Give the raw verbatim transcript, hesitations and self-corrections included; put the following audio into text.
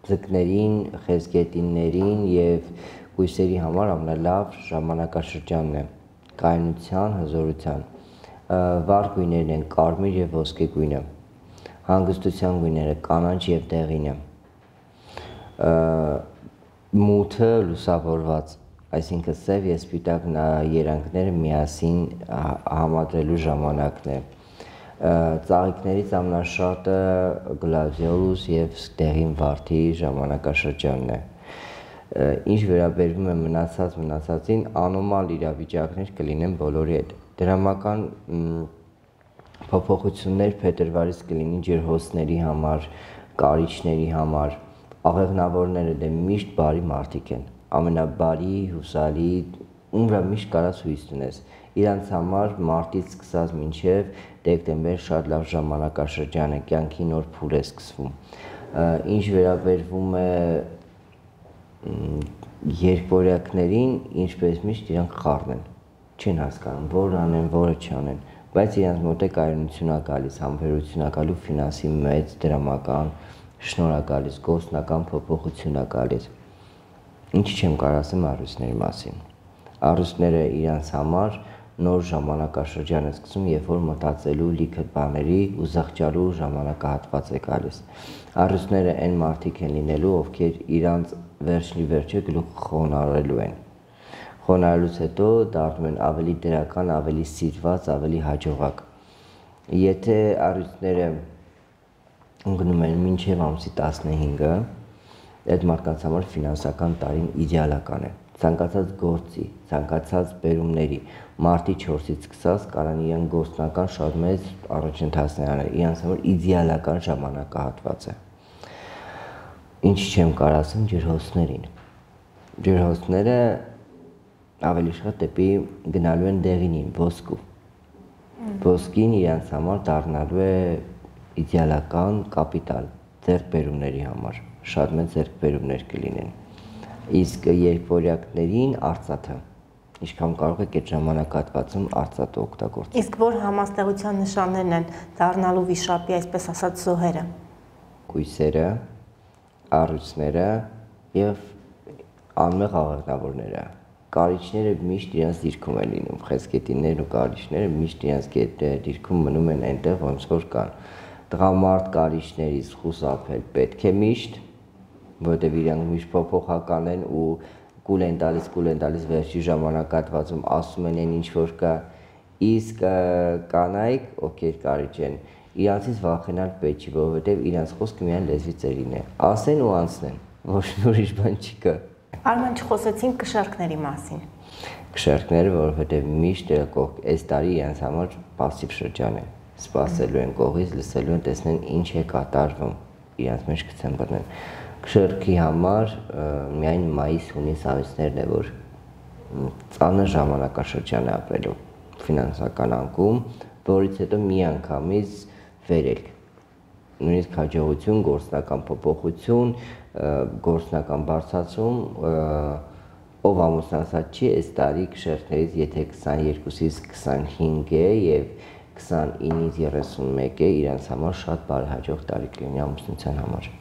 ձկներին, խեցգետիններին և կույսերի համար ամենալավ ժամանակաշրջանն է կայունության, հզորության։ Վառ գույներն են կարմիր և ոսկե գույնը, հանգստության գույները կանաչ և դեղինը, մութը լուսավորված, այսինքն սև և սպիտակ երանգները միասին համադրելու ժամանակն է։ Ծաղիկներից ամենաշատը գլադիոլուս և դեղին վարդի ժամանակաշրջանն է։ Ինչ վերաբերվում է մնացած մնացածին, անոմալ իրավիճակներ կլինեն բոլորի հետ։ Դրամական փոփոխություններ փետրվարից կլինի ջրհոսների համար, կարիճների համար, աղեղնավորները դե միշտ բարի մարդիկ են, ամենաբարի, հուսալի, ում վրա միշտ կարաս հույս դնես։ Իրանց համար մարտից սկսած մինչև դեկտեմբեր շատ լավ ժամանակաշրջան է, կյանքի նոր փուլ է սկսվում։ Ինչ վերաբերվում է երկվորյակներին, ինչպես միշտ իրանք խառն են, չեն հասկանում, որ անեն, որը չանեն, բայց իրանց մոտ է կայունություն ա գալիս, համբերություն ա գալիս, ֆինանսի մեծ դրամական շնորհ ա գալիս, գործնական փոփոխություն ա գալիս։ Ինչ չեմ կարող ասեմ առույցների մասին։ Առույցները իրանց համար նոր ժամանակաշրջան է սկսում, երբ որ մտածելու լիքը բաների ու զղջալու ժամանակահատված է գալիս։ Առույցները այն մարդիկ են լինելու, ովքեր իրանց վերջնի վերջը գլուխը խոնարհելու են։ Խոնարհելուց հետո դառնում են ավելի դրական, ավելի սիրված, ավելի հաջողակ։ Եթե առույցները ընկնում են մինչև ամսի տասնհինգը, այդ մարդկանց համար ֆինանսական տարին իդեալական է։ Ցանկացած գործի, ցանկացած բերումների, մարտի չորսից սկսած կարան իրեն գործնական շատ մեծ առաջընթացներ անել, իրանց համար իդեալական ժամանակահատված է։ Ինչ չեմ կարող ասեմ ջրհոսներին։ Ջրհոսները ավելի շատ դեպի գնալու են դեղինին, ոսկու։ Ոսկին իրանց համար դառնալու է իդեալական կապիտալ ձեռքբերումների համար, շատ մեծ ձեռքբերումներ կլինեն։ Իսկ երկվորյակներին արծաթը, ինչքան կարող եք այդ ժամանակահատվածում արծաթը օգտագործել։ Իսկ որ համաստեղության նշաններն են դառնալու վիշապի, այսպես ասած, զոհերը։ Կույսերը, առույցները և անմեղ աղեղնավորները։ Կարիճները միշտ իրենց դիրքում են լինում, խեցգետիններն ու կարիճները միշտ իրենց դիրքում մնում են այնտեղ, ոնց որ կան։ Տղամարդ կարիճներից խուսափել պետք է միշտ, որովհետև իրանք միշտ փոփոխական են ու կուլ են տալիս, կուլ են տալիս վերջի ժամանակահատվածում ասում են այն ինչ որ կա, իսկ կանայք, ովքեր կարիճ են, իրանցից վախենալ պետք չի, որովհետև իրանց խոսքը միայն լեզվի ծերին է, ասեն ու անցնեն, ոչ մի ուրիշ բան չկա։ Արման, չխոսեցինք կշեռքների մասին։ Կշեռքները, որովհետև միշտ այս տարի իրանց համար պասիվ շրջան է, սպասելու են կողից, լսելու են, տեսնեն ինչ է կատարվում, իրանց մեջ գցեն բռնեն։ Կշեռքի համար միայն մայիս, հունիս ամիսներն է, որ ծանր ժամանակաշրջան է ապրելու ֆինանսական անկում, որից հետո մի անգամից վերելք, նույնիսկ հաջողություն, գործնական փոփոխություն, գործնական բարձրացում, ով ամուսնացած չի, այս տարի կշեռքներից եթե քսաներկուսից քսանհինգ է և քսանինից երեսունմեկ է, իրանց համար շատ բարեհաջող տարի կլինի ամուսնության համար։